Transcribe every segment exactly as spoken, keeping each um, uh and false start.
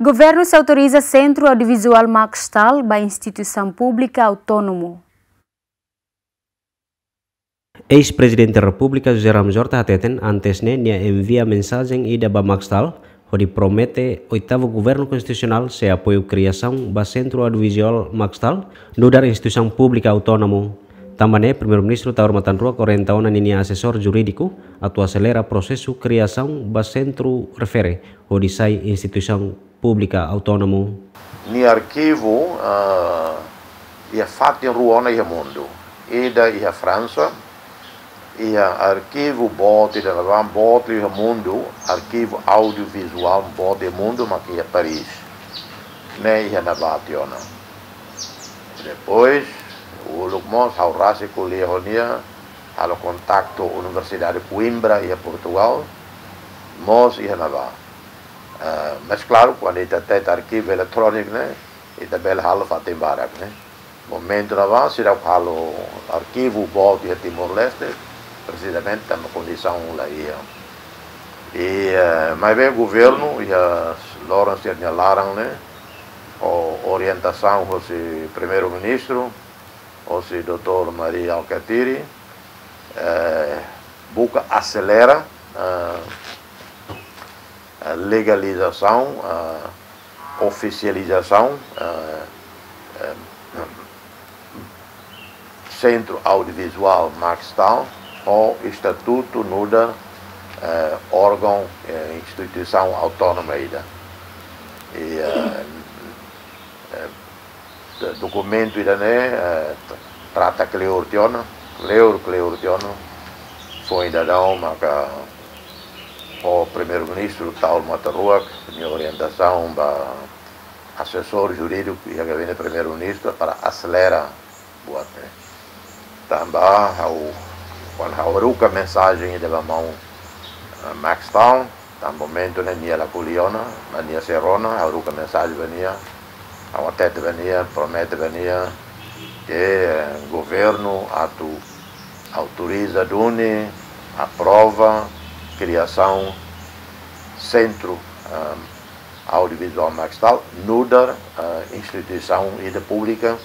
Governu sei autoriza Sentru Audiovizuál Maxtal ba instituisaun públika autónomu. Eis-Prezidente Repúblika José Ramos Horta hateten antes ne'e nia envia mensajen ida ba Maxtal, hodi promete oitavu governu konstitusionál sei apoiu kriasaun ba Sentru Audiovizuál Maxtal, nu'udar instituisaun públika autónomu. Tanba ne'e, Primeiru-Ministru Taur Matan Ruak orienta ona ninia asesór jurídiku atu aselera prosesu kriasaun ba sentru refere, hodi sai instituisaun públika autónomu. Nia arkivu, ah, iha fatin rua ona iha mundu. Ida iha Fransa, iha arkivu boot ida ne'ebé boot iha mundu, arkivu audiovizuál boot iha mundu, mak iha Paris. Ne'e iha ne'ebá tiha ona. Depois, uluk mós, ha'u rasik ko'alia ho nia, halo kontaktu Universidade Coimbra iha Portugal, mós iha ne'ebá. Eh, mas klaru, kuandu ita teta arkivu eletróniku ne'e, ita bele halo fatin barak ne'e. Momentu ne'ebá, seidauk halo arkivu boot iha Timor-Leste, presizamente tanba kondisaun la iha. I, eh, maibé governu iha loron sira-nia laran ne'e, ho orientasaun husi Primeiru-Ministru, husi doutór Mari Alkatiri, eh, buka aselera, eh, eh, legalizasaun, eh, ofisializasaun, eh, eh, Sentru Audiovizuál Maxtal, ho estatutu nu'udar, eh, órgaun, eh, instituisaun autónoma ida. I, eh, eh, do-, dokumentu ida-ne'e, eh, t-, trata kleur tiha ona, kleur, kleur tiha ona. Foin daudaun maka ho Primeiru-Ministru Taur Matan Ruak nia orientasaun ba asesór jurídiku iha gabinete Primeiru-Ministru para aselera buat ne'e. Tanba ha'u, kuandu ha'u haruka mensajen ida ba maun, eh, Maxtal, tanba momentu ne'e nia la ko'alia ona, mas nia sei rona, ha'u haruka mensajen ba nia, ha'u hatete ba nia, promete ba nia, ke, eh, governu atu autoriza duni, aprova kriasaun Sentru, eh, Audiovizuál Maxtal, nu'udar, eh, instituisaun ida públika,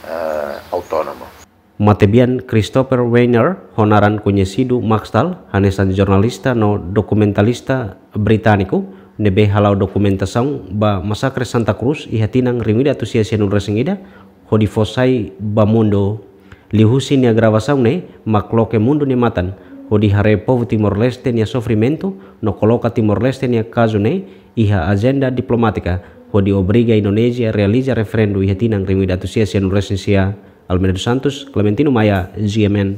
eh, autónoma. Matebian Christopher Weiner, ho naran koñesidu Maxtal, hanesan jornalista no dokumentalista britániku, ne'ebé hala'o dokumentasaun ba masakre Santa Cruz iha tinan rihun ida atus sia sianulu resin ida, hodi fó sai ba mundu. Liuhusi nia gravasaun ne'e, mak loke mundu nia matan, hodi haree povu Timor-Leste nia sofrimentu, no koloka Timor-Leste nia kazu ne'e iha ajenda diplomátika, hodi obriga Indonézia realiza referendu iha tinan rihun ida atus sia sianulu resin sia. Almeida dos Santos, Clementino Maia, G M N.